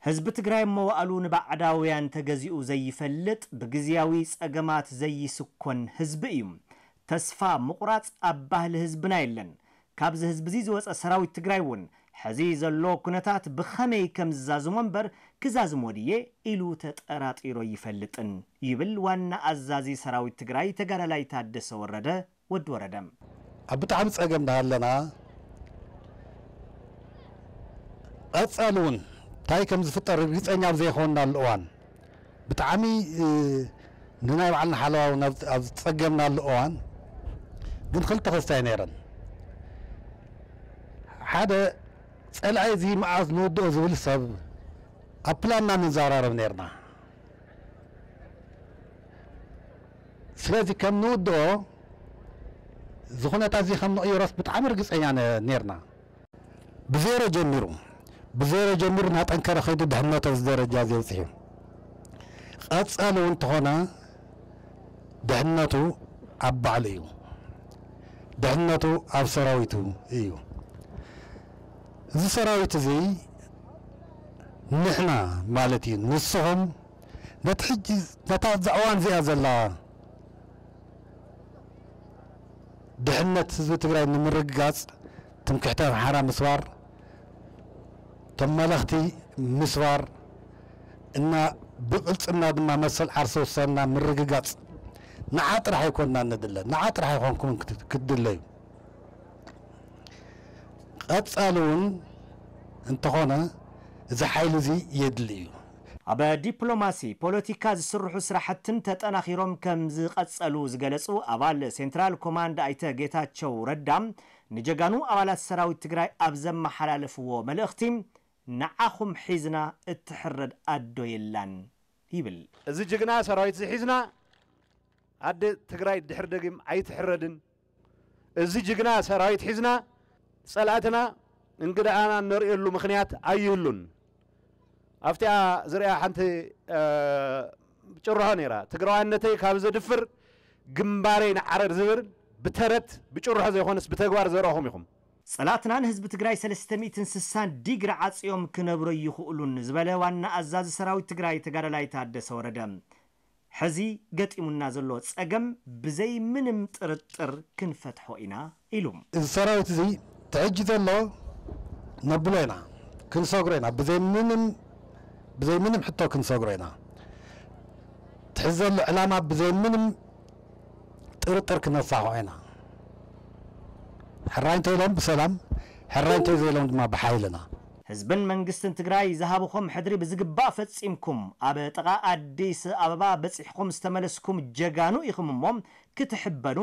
ህዝቢ ትግራይ መዋእሉ ንባዕዳውያን ተገዚኡ ዘይፈልጥ፣ ብግዝያዊ ጸገማት ዘይስኮን ህዝቢ እዩ። ተስፋ ምቑራጽ ኣብ ባህሊ ህዝብና የለን። ካብዚ ህዝቢ እዚ ዝወጸ ሰራዊት ትግራይ እውን ሕዚ ዘሎ ኩነታት ብኸመይ ከም ዝዛዝሞ እምበር ክዛዝሞ ድየ ኢሉ ተጠራጢሩ ኣይፈልጥን ይብል ዋና ኣዛዚ ሰራዊት ትግራይ ተጋዳላይ ታደሰ ወረደ ወዲ ወረደ። ኣብ ብጣዕሚ ጸገም እንዳሃለና ቀጻሊ እውን እንታይ ከም ዝፍጠር ርግጸኛ ኣብ ዘይኾንናሉ እዋን ብጣዕሚ ንናይ ባዕልና ሓለዋ እውን ኣብ ዝጸገምናሉ እዋን ግን ክልተ ክስታይ ነይረን። ሓደ ጸላኢ እዚ መዓዝ ንውድኦ ዝብል ሰብ ኣብ ፕላንና ንዘራረብ ነይርና። ስለዚ ከም ንውድኦ ዝኹነታ እዚ ከም ንቕይሮስ ብጣዕሚ ርግጸኛ ነይርና። ብዜሮ ጀሚሩ ብዜሮ ጀሚሩ እናጠንከረ ከይዱ ድሕነቱ ኣብዚ ደረጃ እዚ ኣብፂሑ። ቀፃሊ እውን እንተኾነ ድሕነቱ ኣብ ባዕሉ እዩ። ድሕነቱ ኣብ ሰራዊቱ እዩ። እዚ ሰራዊት እዚ ንሕና ማለት እዩ፣ ንስኹም ነቲ ሕጂ ነታ ኣብዛ እዋን እዚኣ ዘላ ድሕነት ህዝቢ ትግራይ ንምርግጋፅ ትምክሕቲ ኣምሓራ ምስባር፣ ተመለኽቲ ምስባር እና ብቕልፅምና ድማ መሰል ዓርሰ ውሳንና ምርግጋፅ ንዓ ጥራሕ ኣይኮንና ንድለ፣ ንዓ ጥራሕ ኣይኮንኩምን ክትድለዩ። ቀፃሊ እውን እንተኾነ እዚ ሓይሊ እዚ የድሊ እዩ። ኣብ ዲፕሎማሲ ፖለቲካ ዝስርሑ ስራሕትን ተጠናኺሮም ከም ዝቐፀሉ ዝገለፁ ኣባል ሴንትራል ኮማንድ ኣይተ ጌታቸው ረዳ ንጀጋኑ ኣባላት ሰራዊት ትግራይ ኣብ ዘመሓላለፍዎ መልእኽቲ ንዓኹም ሒዝና እትሕረድ ኣዶ የላን ይብል። እዚ ጅግና ሰራዊት እዚ ሒዝና ኣደ ትግራይ ድሕር ደጊም ኣይትሕረድን። እዚ ጅግና ሰራዊት ሒዝና ጸላእትና እንግዳኣና እነርእየሉ ምኽንያት ኣይህሉን። ኣብቲኣ ዝሪኣ ሓንቲ ጭርሖ ነይራ፣ ትግራዋይነተይ ካብ ዘድፍር ግንባረይ ንዓረር ዝብል ብተረት ብጭርሖ ዘይኮነስ ብተግባር ዘረእኹም ኢኹም። ጸላእትና ንህዝቢ ትግራይ ሰለስተ ሚእትን ስሳን ዲግሪ ዓጽዮም ክነብሮ ይኽእሉን ዝበለ ዋና ኣዛዚ ሰራዊት ትግራይ ተጋዳላይ ታደሰ ወረደ፣ ሕዚ ገጢሙና ዘሎ ጸገም ብዘይ ምንም ጥርጥር ክንፈትሖ ኢና ኢሉ። እዚ ሰራዊት እዚ ትሕጂ ዘሎ ነብሎ ኢና፣ ክንሰግሮ ኢና፣ ብዘይ ምንም ብዘይ ምንም ሕቶ ክንሰግሮ ኢና። ትሕዚ ዘሎ ዕላማ ብዘይ ምንም ጥርጥር ክነሳኽዖ ኢና። ሕራይ እንተኢሎም ብሰላም፣ ሕራይ እንተዘይሎም ድማ ብሓይልና። ህዝብን መንግስትን ትግራይ ዝሃብኹም ሕድሪ ብዝግባእ ፈጺምኩም ኣብ ጥቓ ኣዲስ ኣበባ በጺሕኩም ዝተመለስኩም ጀጋኑ ኢኹም እሞ ክትሕበኑ፣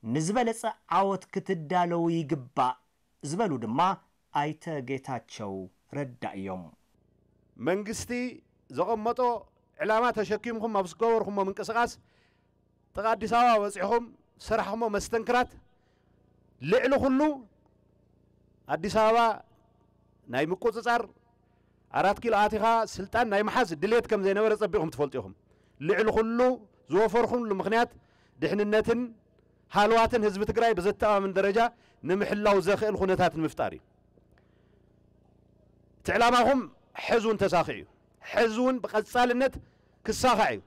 ንዝበለጸ ዓወት ክትዳለዉ ይግባእ ዝበሉ ድማ ኣይተ ጌታቸው ረዳ እዮም። መንግስቲ ዘቐመጦ ዕላማ ተሸኪምኩም ኣብ ዝገበርኩሞ ምንቅስቓስ ጥቓ ኣዲስ ኣበባ በፂሕኹም ዝሰራሕኹሞ መስተንክራት ልዕሊ ኩሉ ኣዲስ ኣበባ ናይ ምቁፅፃር ኣራት ኪሎ ኣቲኻ ስልጣን ናይ ምሓዝ ድሌት ከም ዘይነበረ ፀቢቕኩም ትፈልጡ ኢኹም። ልዕሊ ኩሉ ዝወፈርኩምሉ ምኽንያት ድሕንነትን ሃለዋትን ህዝቢ ትግራይ ብዘተኣማምን ደረጃ ንምሕላው ዘኽእል ኩነታት ንምፍጣር እዩ። እቲ ዕላማኹም ሕዚ እውን ተሳኺዑ እዩ። ሕዚ እውን ብቐፃልነት ክሳኻዕ እዩ።